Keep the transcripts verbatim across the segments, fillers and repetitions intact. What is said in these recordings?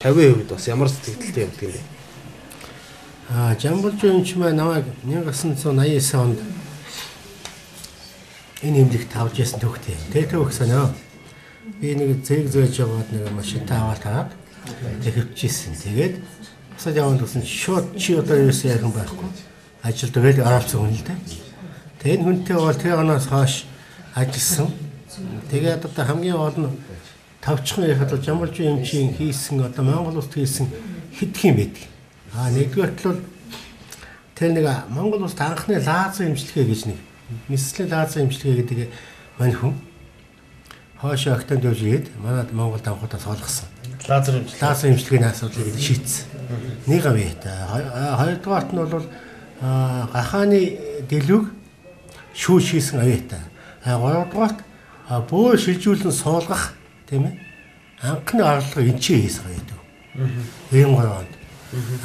тавийн хувьд бас ямар сэтгэлтэй явдаг юм бэ? Аа, Жамбулжуу эмч маань намайг найман девятьсот восемьдесят девять онд энэ эмнэлэгт авч ясан төгтэй. Тэгээ төгсөн нөө. Би нэг зэрэг зөөж яваад нэг машинтаа аваад таад тэгэвчээсэн. Тэгээд босоод яваад гэсэн шууд чи одоо юусэн ярих байхгүй. Ажил тэгээд оролцсон хүн л дээ. Тэгээд хүнтэй бол тэр оноос хойш ажилласан. Тэгээд одоо хамгийн гол нь тавчхан ярихад бол Жамбулжуу эмчийн хийсэн одоо Монгол улсад хийсэн хэдх юм байдаг. Аа, нэгдүгээрт бол тэр нэг Монгол улсад анхны лазер эмчилгээ гэж нэг Мислийн лазер эмчилгээ гэдэг мань хүн хойшоо октон дэвжгээд манад Монголд анхудаа солгосон. Лазер эмчилгээ. Лазер эмчилгээний асуудлыг шийдсэн. Нэг авъя та. Хоёрдугаарт нь бол гахааны дэлгүүг шүүж хийсэн авъя та. Гуравдугаарт бөө шилжүүлэн суулгах тийм ээ. Анхны аргалгыг энчээ хийсэн байдаг. Ийм гоонд.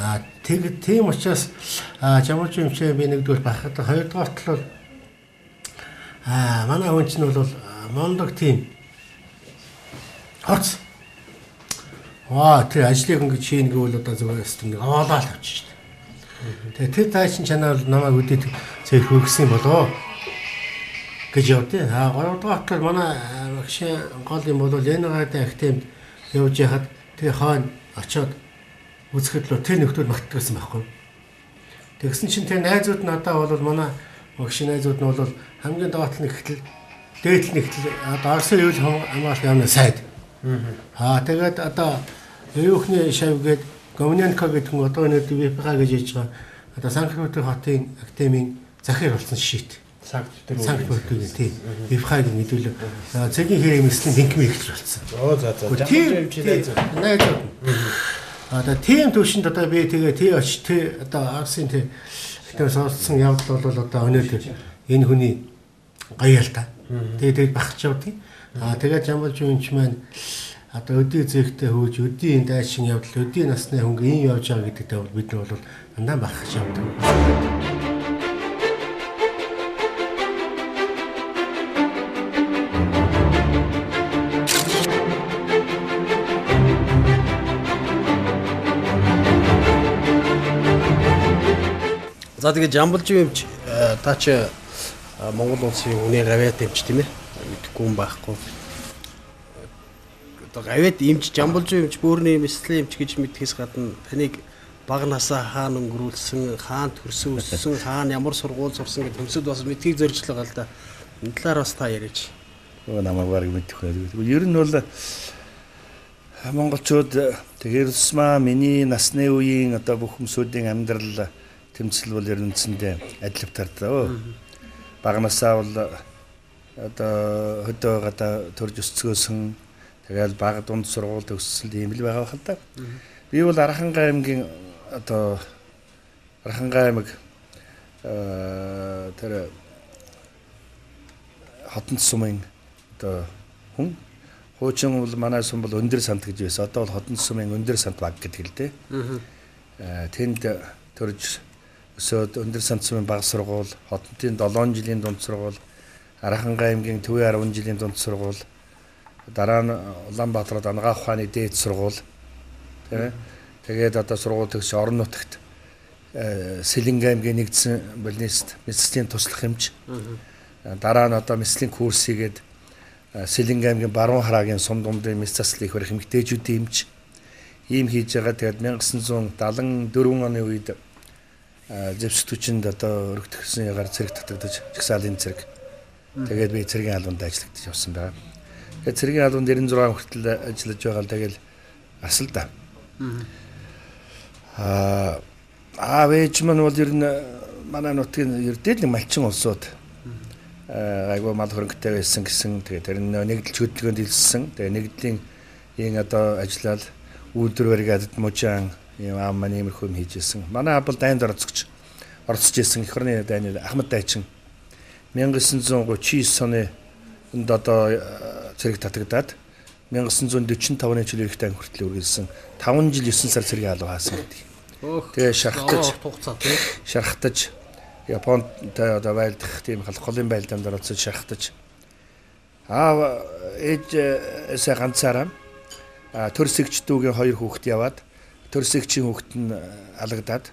Аа тэг тийм учраас Жамбулжуу эмчээ би нэгдүгээр бахад хоёрдугаарт бол аа манай хүн чинь бол мондог тийм хоц. Аа тэр ажлыг ингэж хийн гэвэл одоо зүгээр систем нэг оолаа л авчих шүү дээ. Тэгээ тэр тайчин чанаа бол намайг үдээд зэрэг хөргсөн болоо гэж явдээ. Аа гуравдугаарт бол манай багшийн гол юм бол Ленинградын актемд явж яхад тэр хойно очиод үзэхэд л тэр нөхдөд магтдагсан байхгүй. Тэгсэн чинь тэр найзууд надаа бол манай багшийн найзууд нь бол хамгийн доотлол нэгтэл дээдл нэгтэл одоо Орсын үйл хамгаалалт яамны сайд. Аа тэгээд одоо Евхний шавьгээд Гомнянка гэдэг хүн одоо нэг ВПХ гэж ярьж байгаа. Одоо Санкт-Петербург хотын академийн захир болсон шийт. Санкт-Петербург тийм ВПХ гэж мэдүүлээ. Цэгийн хэрэг мэслийн тэнхимээ ихч болсон. Оо за за. Жамбулжуу эмчийн найзууд. Одоо тийм төвшөнд одоо би тэгээ тий оч тий одоо Арсын тий тэр сонссон явдал бол одоо өнөөдөр энэ хүний гоё л та. Тэгээ тэгээд багч явдгийг. Аа тэгээд Жамбулжуу эмч маань одоо өдий зэхтэй хөөж өдийн дайшин явдал өдийн насны хүн ийм явж байгаа гэдэгтээ бол бид нар бол дандаа багч явдаг. За тэгээ Жамбулжуу эмч та чи Монгол улсын хүний гавьяат эмч тийм ээ. Мэдхгүй юм байхгүй. Одоо гавьяат эмч Жамбулжуу эмч бөөрийн мислийн эмч гэж мэдхээс гадна таныг бага насаа хаана өнгөрүүлсэн, хаана төрсөн өссөн, хаана ямар сургууль сурсан гэдэг хүмүүсд бас мэдхийг зорж л байгаа л да. Энэ талаар бас та яриач. Өө намайг барыг мэдэх байх. Ер нь бол монголчууд тэгэхээр тусмаа миний насны үеийн одоо бүх хүмүүсийн амьдрал тэмцэл бол ер нь үндсэндээ адилхан тардаа. Бага насаа бол одоо хөдөө гадаа төрж өсцгөөсөн тэгэл бага дунд сургууль төгссөн юм л байгаа хэл та. Би бол Архангай аймгийн одоо Архангай аймаг тэр Хотон сумын одоо хүн хуучин бол манай сум бол өндөр сант гэж байсан. Одоо бол Хотон сумын өндөр сант баг гэдэг л дээ. Тэнд төрж өсөөд өндөр сант сумын бага сургууль, Хотонтын долоон жилийн дунд сургууль, Архангай аймгийн Төвийн арван жилийн дунд сургууль, дараа нь Улаанбаатарт Ангаа ухааны дээд сургууль. Тэ. Тэгээд одоо сургууль төгс орон нутагт Сэлэнг аймгийн нэгдсэн балнист мэслийн туслах эмч. Дараа нь одоо мэслийн курс хийгээд Сэлэнг аймгийн Баруун хараагийн сум дундын мэс заслыг их барих эмэгтэйчүүдийн эмч. Ийм хийж байгаа. Тэгээд мянга девятьсот седьмидесятый дөрвөн оны үед Зэвсэг түчинд одоо өргөдгсөн ягаар цэрэг татагдаж жагсаалын цэрэг. Тэгээд би цэрэгийн албанд ажиллагдаж явсан байгаа. Тэгээд цэрэгийн албанд девяносто шесть хүртэл ажиллаж байгаа л тэгэл асал да. Аа аа вэж мань бол ер нь манай нутгийн ер дээд нэг малчин улсууд айгуу мал хөрөнгөтэй байсан гэсэн. Тэгээд тэр нэгдэлч хөдөлгөөнд илссэн. Тэгээд нэгдлийн ийн одоо ажиллаад үйлдвэр баригадад мужаан ийм аам маань иймэрхүү юм хийжсэн. Манай абл дайнд орцогч орцож исэн их орны дайны Ахмад дайчин мянга девятьсот тридцать девять оны энд одоо цэрэг татагдаад мянга девятьсот сорок пять оны жил их дан хүртэл үргэлжсэн таван жил девять сар цэргийн алга хаасан гэдэг. Тэгээ шархтаж шархтаж Японтой одоо байлдах тийм холын байлдаанд оролцож шархтаж аа ээж эсэ ганцаараа төрсөгчдүүгийн хоёр хүүхэд яваад төрсөгчийн хүүхэд нь алагдаад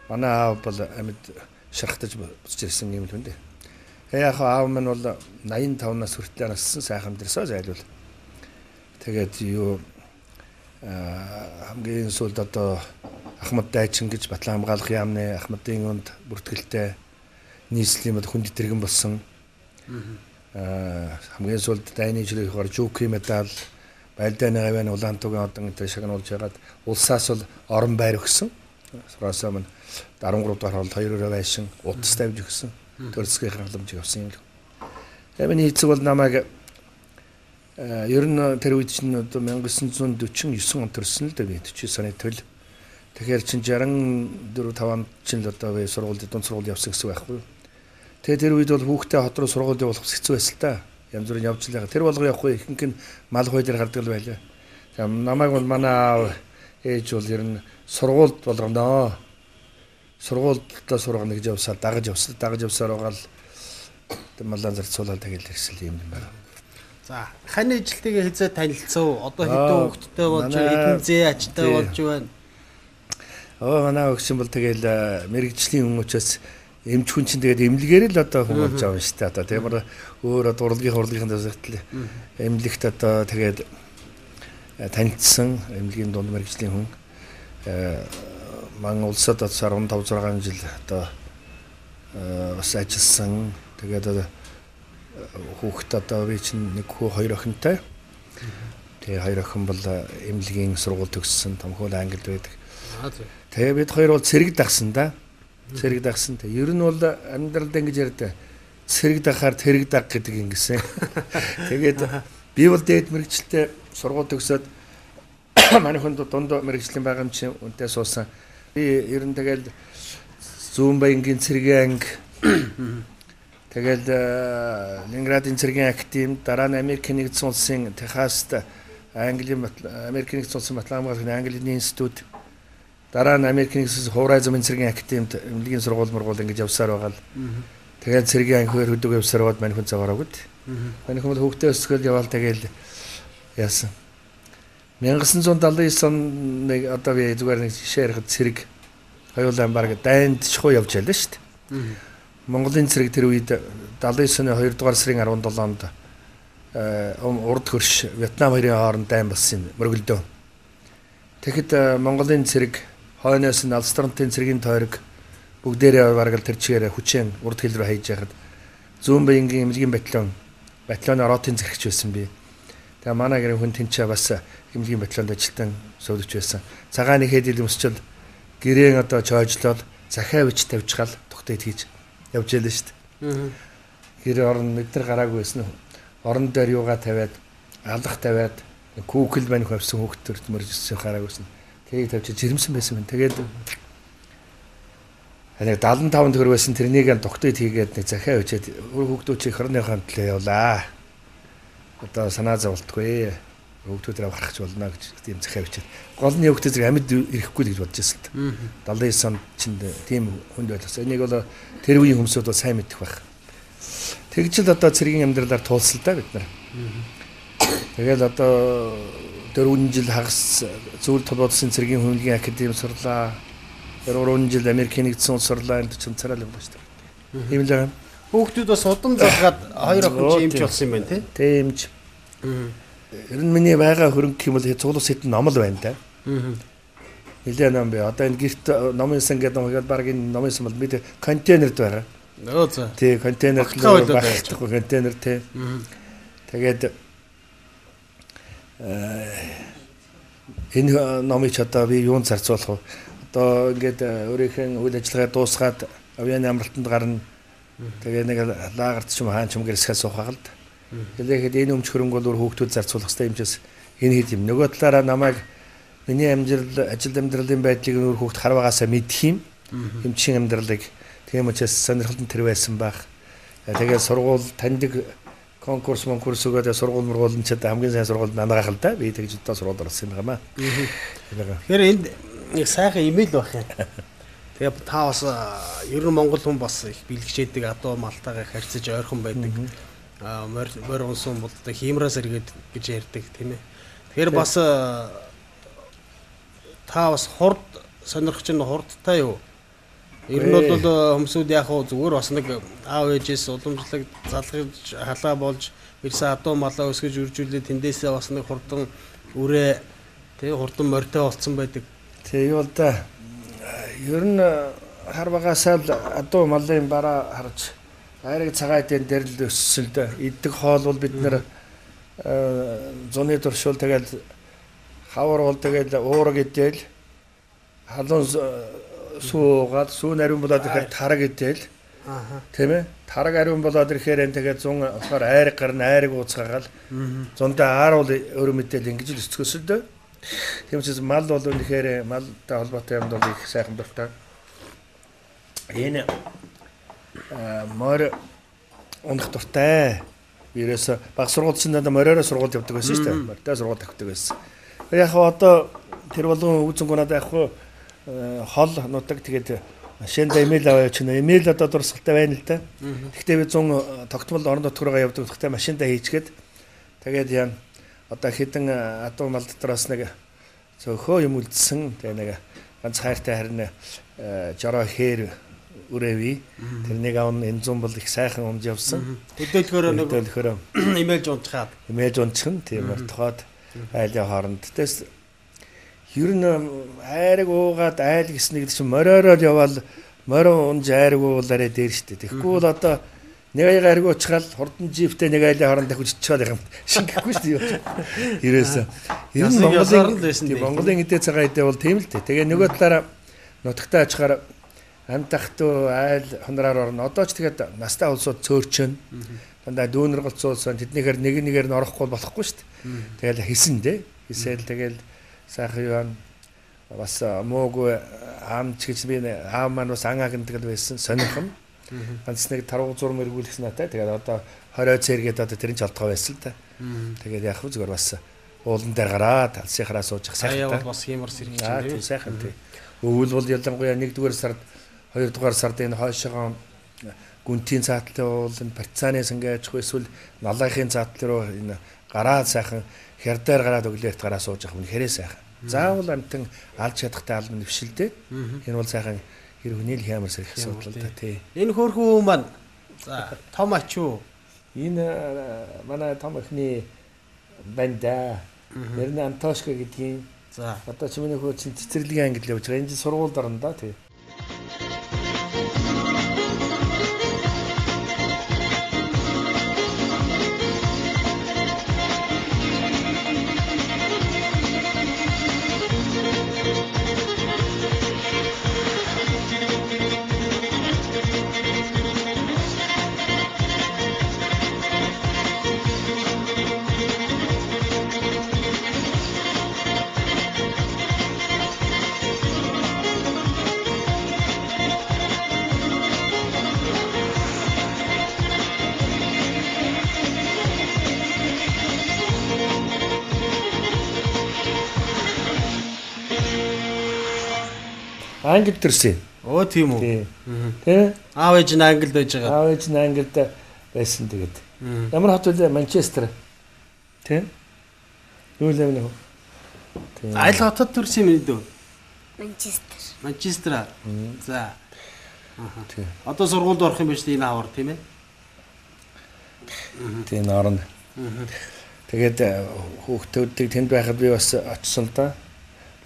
манай аав бол амьд шархтаж буцаж ирсэн юм л үндэ. Яг аав минь бол найман таван нас хүртэл нассан сайхан дэрсээ зайлвал. Тэгээд юу хамгийн сүүлд одоо Ахмад Дайчин гэж Батлан хамгаалах яамны Ахмадын өнд бүртгэлтэй нийслэлийн хүнд тэргэн болсон. Аа хамгийн сүүлд дайны жилийнхоор Жүүки медаль Байлдааны гавьяаны Улаантугийн одон энэ шагнуулж ягаад улсаас бол орон байр өгсөн. Сураасаа мань арван гурав дахь хоолд хоёр өрөө байшин утас тавьж өгсөн. Төрөлцгийн халамж явсан юм л. Эмийн хийцэг бол намайг ер нь тэр үед чинь одоо мянга девятьсот сорок девять он төрсөн л дээ би forty-nine оны төл. Тэгэхээр чинь sixty-four five онд чинь л одоо би сургуульд дунд сургууль явсан гэсэн байхгүй юу. Тэгээ тэр үед бол хүүхдээ хот руу сургууль явуулах хэцүү байсан л та. Янз бүрийн явж л байгаа. Тэр болгоо явахгүй ихэнх нь мал хой дээр гардаг л байлаа. Тэгээ намайг бол манай ээж бол ер нь сургуульд болгоно. Сургуульдаа сургана гэж явсаар дагаж явсан. Дагаж явсаар байгаа л маллан зарцуулаад тэгэл ирсэн юм байна. За, хань ижилтэйгээ хязээ танилцсан. Одоо хэдэн хүүхэдтэй болж хэдэн зээ ачтай болж байна. Оо манай өгсөн бол тэгэл мэрэгжлийн хүн учраас эмч хүн чинь тэгээд эмнэлгээр л одоо хүн болж байгаа юм шүү дээ. Одоо тийм өөр урлагийн урлагийн дэвсгэл эмнэлэгт одоо тэгээд танилцсан эмнэлгийн дунд мэрэгжлийн хүн ман улсад fifteen six жил одоо бас ажилласан. Тэгээд хүүхэд одоо би чинь нэг хүү хоёр охинтой. Тэгээ хоёр охин бол эмнэлгийн сургууль төгссөн, томхол Англид байдаг. Тэгээ бид хоёр бол цэрэг дагсан да. Цэрэг дагсан. Тэг ер нь бол амьдралд ингэж ярьдаг. Цэрэг дагахаар тэрэг даг гэдэг ингэсэн. Тэгээд би бол дээд мэрэгчлээ сургууль төгсөөд манай хүнд дунд мэрэгжлийн байгаа юм чинь үнтэй суусан. Би ер нь тэгэл Зүүн Баянгийн цэргийн анги тэгэл Ленинградын цэргийн актив дараа нь Америкийн нэгдсэн улсын Техаст Английн Америкийн нэгдсэн улсын батлан хамгаалахын Английн институт дараа нь Америкийн нэгдсэн хуврай замын цэргийн активд эмнэлгийн сургууль мургуул ингэж явсаар байгаа л тэгээд цэргийн анги хөр хөдөг явсаар бод манай хүн цагаараа гүт манай хүн хөвгтөө өсгөл яваал тэгэл яасан nineteen seventy-nine оны одоо би зүгээр нэг жишээ ярихад цэрэг хоёулаа баг дайнд чхуу явж ялаа шүү дээ. Монголын цэрэг тэр үед ninety-nine оны two дугаар сарын seventh-нд э урд хөрш Вьетнам хоёрын хооронд дайн болсон юм мөргөлдөө. Тэгэхэд Монголын цэрэг хойноос нь Алстронтын цэргийн тойрог бүгдээрээ бараг л тэр чигээр хүчээр урд хил рүү хайж яхад Зүүн Баянгийн эмнэлгийн батальон батальоны оротын зэрэгч байсан би. Тэгээ манай гэрийн хүн тэнцээ бас эмнэлгийн батальонд ажилтан суудагч байсан. Цагааны хэдэл өмсчил гэрээн одоо чойжлол захиа бич тавьчихал тогтойд хийж явж ялаа шүү дээ. Гэрээ орон мэдэр гараагүй байсан нь орон дээр юугаа тавиад алах тавиад күүкл мань хавсан хүүхдүүд мөржсөн гараагүйсэн. Тэрийг тавьчих жирэмсэн байсан юм. Тэгээд нэг seventy-five төгрөг байсан тэрнийг нь тогтойд хийгээд нэг захиа бичээд хүүхдүүд чи хорныхоо төлөө явлаа. Одоо санаа зовлтгүй хүүхдүүдээ гаргах болно гэж тийм захиа бичээд гол нь хүүхдүүд зэрэг амьд ирэхгүй л гэж бодож байсан л та. ninety-nine онд чинь тийм хүнд байлгасан. Энийг бол тэр үеийн хүмүүсүүд бол сайн мэдэх байх. Тэгж л одоо цэргийн амьдралаар туулсан л да бид нар. Тэгэл одоо four жил хагас зөвлөлт толгойдсон цэргийн хүнлэгийн академи сурлаа. four жил Америкийн нэгдсэн улс сурлаа энэ чинь царай л юм ба шүү дээ. Ийм л байгаа. Хүүхдүүд бас удам залгаад хоёр охин эмч болсон юм байна тий. Тэ эмч. Ер нь миний байгаа хөрөнгө юм бол цуглас хэдэн ном л байна да. Нилээ ном би одоо энэ гэрт номын сан гэдэг нэг баг энэ номын сан бол бид контейнерд байгаа. Нөө за. Тий контейнерд байхгүй контейнер тий. Тэгээд энэ номыг ч одоо би юунд зарцуулах вэ? Одоо ингээд өөрийнхөө үйл ажиллагаа дуусгаад авьяаны амралтанд гарна. Тэгээ нэг лагерт ч юм хаан ч юм гэрсгээ суухаа л. Тэгэхэд энэ өмч хөрөнгө бол хүүхдүүд зарцуулах хэрэгтэй юм чис энэ хэд юм. Нөгөө талаараа намайг миний амжилт ажил амьдралын байдлыг өөр хүүхд харваагаасаа мэдх юм. Эмчийн амьдралыг тийм учраас сонирхолтой тэр байсан байх. Тэгээд сургууль таньдаг конкурс конкурс өгөөд сургууль мургуулн ч хамгийн сайн сургуульд нанагаах л да. Би тэгж одоо сургуульд орсон юм байна. Тэгэхээр энд нэг сайхан имэйл байх юм. Тэгээ та бас ер нь монгол хүн бас их бэлгчээдэг адуу малтайгаа харьцаж ойрхон байдаг. Аа морь морь унсан бол одоо хиймраас эргээд гэж ярьдаг тийм ээ. Тэгэхээр бас та бас хурд сонирхож нь хурдтай юу? Ер нь бол хүмүүсүүд яг хөө зүгээр бас нэг аав ээжээс уламжлаг залгаж халаа болж ирсэн адуу малаа өсгөж үржүүлээ тэндээсээ бас нэг хурдан үрээ тэг хурдан морьтой болцсон байдаг. Тэг юу л да. Ер нь хар багасаа л адуу малын бараа харж айрыг цагаат дээр л өссөн л да. Иддэг хоол бол бид нэр зуны туршуул тэгэл хавар бол тэгэл уураг идэл халуун суугаад сүү нариун болоод ирэхээр тараг идэл тийм ээ тараг ариун болоод ирэхээр энэ тэгээд зун болохоор айрыг гарна айрыг ууцгаагаал зундаа аар бол өөр мэдээл ингэж л өсцгөөс л дээ. Тийм учраас мал бол үнэхээр малтай холбоотой юмд бол их сайхан дуртай. Энэ морь унах дуртай. Ерөөсө баг сургуульчид надад мориороо сургууль явдаг байсан шүү дээ. Морьтой сургууль тавьдаг байсан. Яг одоо тэр болгон үзэнгүү надад яг хол нутаг тэгээд машинда имэйл аваач нэ имэйл одоо дурсгалтай байна л да. Гэхдээ би зун тогтмол орон нутгаараа явдаг гэхдээ машинда хийчгээд тэгээд яа одоо хэдэн адуу мал дотроос нэг цөөхөө юм үлдсэн тэгээ нэг ганц хайртай харин жороо хээр үрээви тэрнийг аван энэ зам бол их сайхан умж явсан. Хөдөөлөхөөр нэг хөдөөлөхөөр имэйл унцгаад имэйл унцхан тийм ортоход айлын хооронд тэс ер нь айраг уугаад айл гэснэг чинь мориороод явбал морио унж айраг уулаарэ дээр штэ. Тэгэхгүй бол одоо нэг аяг айраг уучгаал хурдан жиптэй нэг айлын хооронд дахиж чичээд юм. Шингэхгүй штэ юу. Ерөөсөө ер нь Монголын Монголын эдээ цагаан эдээ бол тийм л дээ. Тэгээ нөгөө талаараа нутагтаа ачаар амтахтуу айл хонороор орно. Одоо ч тэгээд настай улсууд цөөрчөн. Дандаа дүүнэр голцуулсан тэднийхээр нэг нэгээр нь орохгүй болохгүй штэ. Тэгэл хийсэн дээ. Хийсэл тэгэл сайхан юу бас муугүй аамч гэж би аав маань бас ангаа гэндэг байсан сонирхон. Ганц нэг таруу зурм эргүүлсэн натай. Тэгээд одоо хорой цэргээд одоо тэрэн ч олдгоо байсан л та. Тэгээд яг хөө зүгээр бас уулан дээр гараад алсынхаараа сууж сайхан та. Аа бас хиймэр сэргий чинь тийм сайхан тийм. Өвөл бол ялангуяа нэгдүгээр сард хоёрдугаар сард энэ хойшоогоо гүнтийн цаатлын уулын партизаны сангайчгүй эсвэл налайхын цаатлын руу энэ гараад сайхан хярдаар гараад өглөөрт гараа сууж явах нь хэрэг сайхан. Заавал амтан алж чадахтай албан нэвшилтэй. Энэ бол сайхан хэр хүний л хямар сэрэх асуудал та тий. Энэ хөөрхөн маань за том ач юу? Энэ манай том ихний банда. Ер нь Антошка гэдгийг. За одоо ч миний хөө чин цэцэрлэгийн англи явж байгаа. Энд сургууль дарна да тий. Англи төрсөн. Оо тийм үү. Тэ? Аав ээж нь Англид байж байгаа. Аав ээж нь Англид байсан тэгээд. Ямар хот вэ? Манчестер. Тэ? Юу л юм бэ? Айл хотод төрсөн юм дээ. Манчестер. Манчестер. За. Аа. Одоо сургуульд орох юм байна шүү дээ энэ авар тийм ээ. Тийм орно. Тэгээд хүүхдүүдийг тэнд байхад би бас очсон л да.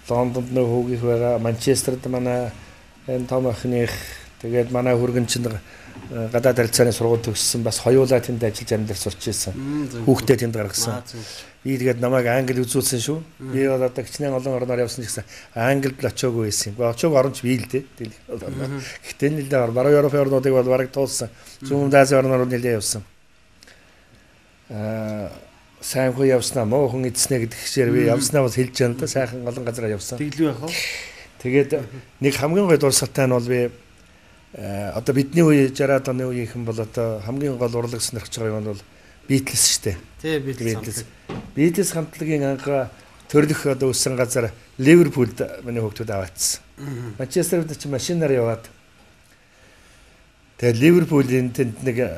Лондонд нөө хүүгийнх байгаа, Манчестерд манай энэ том охиных тэгээд манай хүргэн чинь гадаад харилцааны сургууль төгссөн бас хоёулаа тэнд ажиллаж амьдар сурч ирсэн. Хүүхдээ тэнд гаргасан. Би тэгээд намайг англи үзүүлсэн шүү. Би бол одоо гिचнээ олон орноор явсан ч гэсэн англид л очиагүй байсан. Гэхдээ очиог оронч би л дээ. Гэхдээ нэлээд баруун Европ орнуудыг бол бараг туулсан. Зүүн Азийн орноор нэлээд явсан. Аа сайн хөө явснаа муу хүн эдснэ гэдэг хэсээр би явснаа бас хэлж байна да сайхан олон газараа явсан. Тэглүү яах вэ? Тэгээд нэг хамгийн гол дурсгалтай нь бол би одоо бидний үе жараад оны үеийнхэн бол одоо хамгийн гол урлаг сонирхож байгаа юм бол Beatles шүү дээ. Тий Beatles. Beatles хамтлагийн анхаа төрлөх одоо өссөн газар Ливерпулд миний хүүхдүүд аваадсан. Манчестерд ч машинаар яваад тэгээд Ливерпулийн тэнд нэг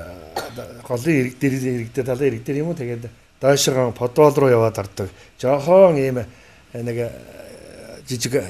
голын ирэг дээр ирэг дээр талын ирэг дээр юм уу тэгээд Доошоо подвал руу яваад ордог. Жохон ийм нэг жижиг